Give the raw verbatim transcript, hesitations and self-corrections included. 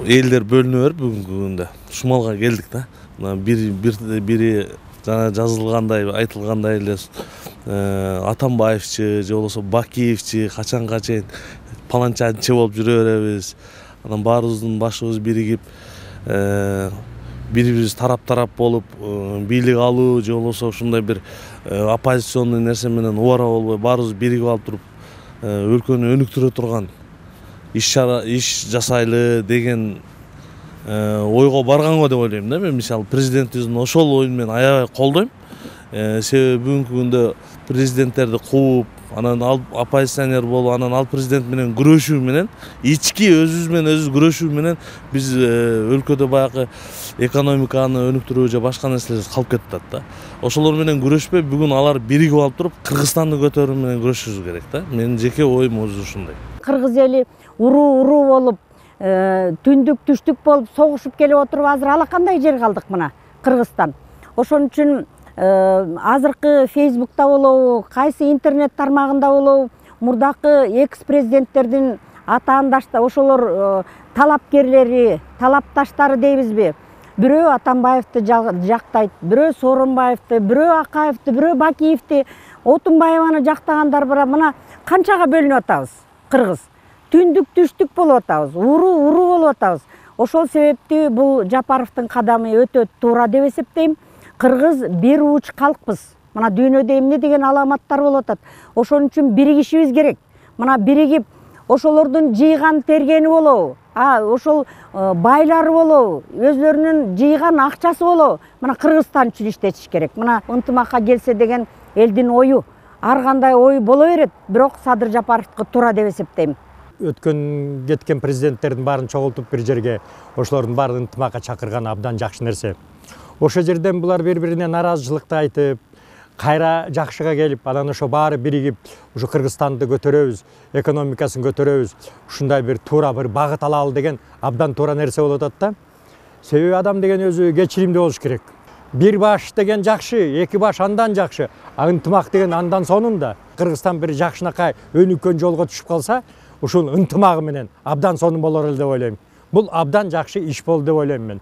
элдер бөлүнө берип бүгүнкү күндө шумалга келдик да. Бири бири жана жазылгандай, айтылгандай эле Атамбаевчи же болбосо Бакиевчи качанга чейин паланчанчы болуп жүрө беребиз. Анан баарыбыздын башыбыз биригип бири-бирибиз тарап-тарап болуп бийлик алуу же болбосо ушундай бир оппозиционный нерсе менен убара болбой баарыбыз биригип алып туруп өлкөнү өнүктүрө турган иш иш жасайлы деген ойго барганго деп ойлойм да. Мен мисалы президентибиздин ошол оюн мен аябай колдойм. Себеби бүгүнкү күндө президенттерди кууп, анан ал оппозиционер болуп, анан ал президент менен күрөшүү менен, ички өзүбүз менен өзүбүз күрөшүү менен биз өлкөдө баягы экономиканы өнүктүрүү же башка нерселер калып кетип атат да. Ошолор менен күрөшпөй, бүгүн алар биригип алып туруп Кыргызстанды көтөрүү менен күрөшүшүбүз керек да. Менин жеке оюм өзү ушундай. Кыргыз эли уруу-уруу болуп, түндүк түштүк болуп согушуп келип отуруп, азыр алакандай жер калдык мына Кыргызстан. Ошон үчүн азыркы Фейсбукта болобу, кайсы интернет тармагында болобу, мурдакы экс-президенттердин атаандаштары, ошолор талапкерлери, талапташтары дейбизби? Бирөө Атамбаевди жактайт, бирөө Сооронбаевди, бирөө Акаевди, бирөө Бакиевди, Отунбаеваны жактагандар бар. Мына канчага бөлүнүп атабыз Кыргыз. Түндүк түштүк болуп атабыз, уруу-уруу болуп атабыз. Ошол себептүү бул Жапаровдун кадамы өтө туура деп эсептейм. Кыргыз бир уч калкпыз. Мына дүйнөдө эмне деген аламаттар болуп атат. Ошон үчүн биригишибиз керек. Мына биригип ошолордун жыйган тергени болобу, а ошол байлары болобу, өзлөрүнүн жыйган акчасы болобу, мына Кыргызстан үчүн иштетиш керек. Мына ынтымакка келсе деген элдин ою. Ар кандай ой боло берет, бирок Садыр Жапаровдуку туура деп эсептейм. Өткөн кеткен президенттердин баарын чогултуп бир жерге ошолордун баарын ынтымакка чакырган абдан жакшы нерсе. Ошол жерден булар бири-бирине наразычылыкты айтып, кайра жакшыга келип, анан ошо баары биригип, ушу Кыргызстанды көтөрөбүз, экономикасын көтөрөбүз, ушундай бир туура бир багыт алалы деген абдан туура нерсе болуп атат да. Себеби адам деген өзү кечиримдүү болуш керек. Бир баш деген жакшы, эки баш андан жакшы, а ынтымак деген андан сонунда. Кыргызстан бир жакшынакай өнүккөн жолго түшүп калса, ушул ынтымагы менен абдан сонун болор эле деп ойлойм. Бул абдан жакшы иш болду деп ойлойм мен.